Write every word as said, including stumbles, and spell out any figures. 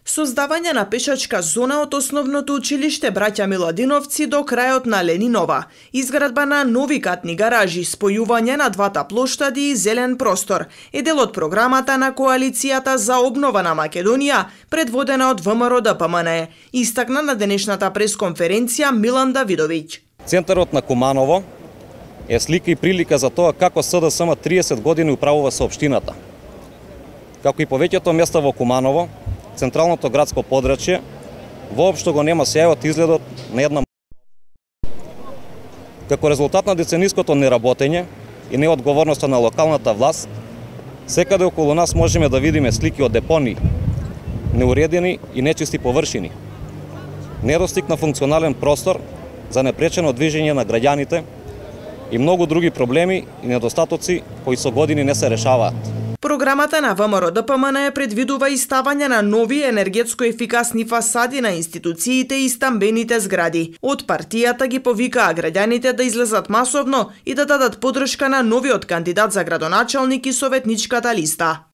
Создавање на пешачка зона од основното училиште Браќа Миладиновци до крајот на Ленинова, изградба на нови катни гаражи, спојување на двата плоштади и зелен простор е дел од програмата на Коалицијата за обнова на Македонија, предводена од ВМРО-ДПМНЕ, истакна на денешната пресконференција Милан Давидовиќ. Центарот на Куманово е слика и прилика за тоа како СДСМ триесет години управува со општината. Како и повеќето места во Куманово, централното градско подрачје воопшто го нема сјајот изгледот на една. Како резултат на децениското неработење и неодговорноста на локалната власт, секаде околу нас можеме да видиме слики од депонии, неуредени и нечисти површини, недостиг на функционален простор за непречено движење на граѓаните и многу други проблеми и недостатоци кои со години не се решаваат. Програмата на ВМРО-ДПМНЕ предвидува и ставање на нови енергетско ефикасни фасади на институциите и стамбените згради. Од партијата ги повикаа граѓаните да излезат масовно и да дадат поддршка на новиот кандидат за градоначалник и советничката листа.